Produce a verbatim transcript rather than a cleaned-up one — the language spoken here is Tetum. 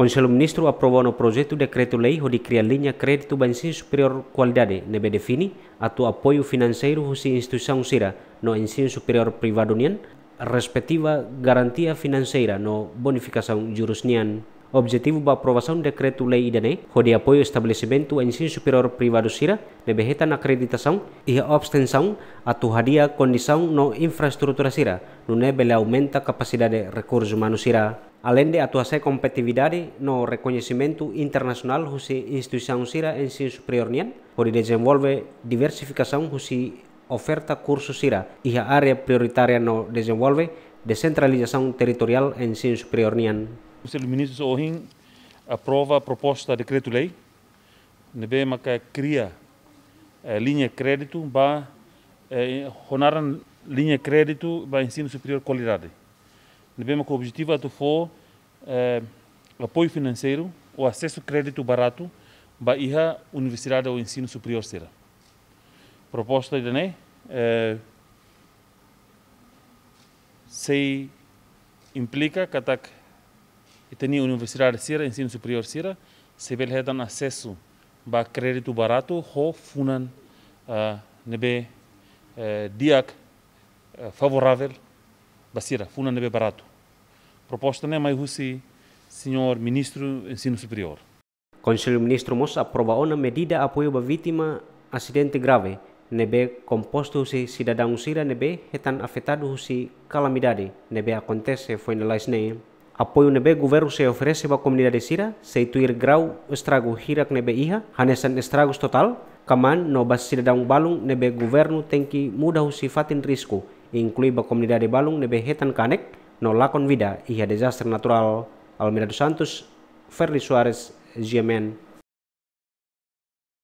Konsellu Ministru aprova ona projetu dekretu-lei hodi kria liña kréditu ba ensinu superiór kualidade, ne'ebé define atu apoiu finanseiru husi instituisaun sira no ensinu superiór privadu nian, respektiva garantia finanseira no bonifikasaun jurus nian. Objetivu ba aprovasaun dekretu-lei ida-ne'e hodi apoiu estabelesimentu ensinu superiór privadu sira ne'ebé hetan akreditasaun iha obstensaun atu hadi'a kondisaun no infraestrutura sira, nune'e bele aumenta kapasidade rekursu umanu sira. Aleinde atu hasa'e kompetitividade no rekoñesimentu internasionál husi instituisaun sira ensinu superiór nian, hodi dezenvolve diversifikasaun husi oferta kursu sira iha área prioritária no dezenvolve desentralizasaun territoriál ensinu superiór nian. Konsellu Ministrus ohin aprova proposta dekretu-lei ne'ebé maka kria, eh, liña kréditu ba, eh, ho naran liña kréditu ba ensinu superiór kualidade. Ne'ebé maka objetivu atu fó, eh, apoiu finanseiru ou asesu kréditu baratu ba iha universidade ou ensinu superiór sira. Proposta ida-ne'e, eh, sei implika katak ita-nia universidade sira, ensinu superiór sira, sei bele hetan asesu ba kréditu baratu ho funan, ah, ne'ebé, eh, di'ak, eh, favoravel ba sira, funan ne'ebé baratu. Proposta ne'e mai husi Señór Ministru Ensinu Superiór. Konsellu Ministru mós aprova ona medida apoiu ba vítima asidente grave, ne'ebé kompostu husi sidadaun sira ne'ebé hetan afetadu husi kalamidade ne'ebé akontese foin lalais ne'e. Apoiu ne'ebé governu sei oferese ba komunidade sira sei tuir grau estragu hirak ne'ebé iha, hanesan estragus totál, kamaan no ba sidadaun balun ne'ebé governu tenke muda husi fatin risku, inklui ba komunidade balun ne'ebé hetan kanek no lakon vida iha dezastre naturál. Almeida dos Santos, Ferdi Soares, G M N.